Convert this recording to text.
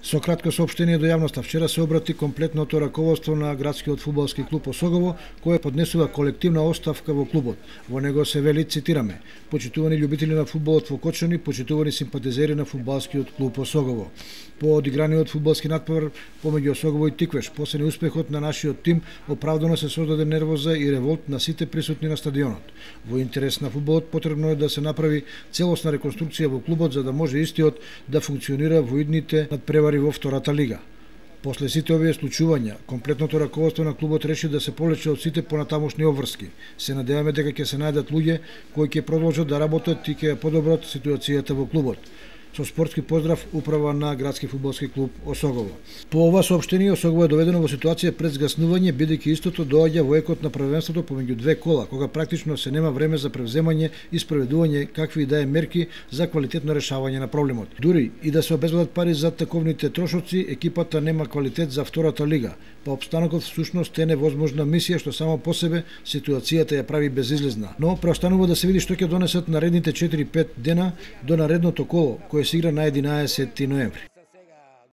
Со кратко соопштение до јавноста вчера се обрати комплетното раководство на градскиот фудбалски клуб Осогово, кое поднесува колективна оставка во клубот. Во него се вели, цитираме: "Почитувани љубители на фудбалот во Кочани, почитувани симпатизери на фудбалскиот клуб Осогово. По одиграниот фудбалски натпревар помеѓу Осогово и Тиквеш, после неуспехот на нашиот тим, оправдано се создаде нервоза и револт на сите присутни на стадионот. Во интерес на фудбалот потребно е да се направи целосна реконструкција во клубот за да може истиот да функционира во идните надпревари во втората лига." После сите овие случувања, комплетното раководство на клубот реши да се полече од сите понатамошни обврски. Се надеваме дека ќе се најдат луѓе кои ќе продолжат да работат и ќе ја подобрат ситуацијата во клубот. Со спортски поздрав, управа на градски фудбалски клуб Осогово. По ова соопштение, Осогово е доведено во ситуација пред згаснување, бидејќи истото доаѓа во екот на првенството помеѓу две кола, кога практично се нема време за превземање и спроведување какви и да е мерки за квалитетно решавање на проблемот. Дури и да се обезбедат пари за таковните трошоци, екипата нема квалитет за втората лига, па обстанокот всушност е невозможна мисија што само по себе ситуацијата ја прави безизлезна. Но преостанува да се види што ќе донесат наредните 4-5 дена до наредното коло, кое се игра на 11 ноември.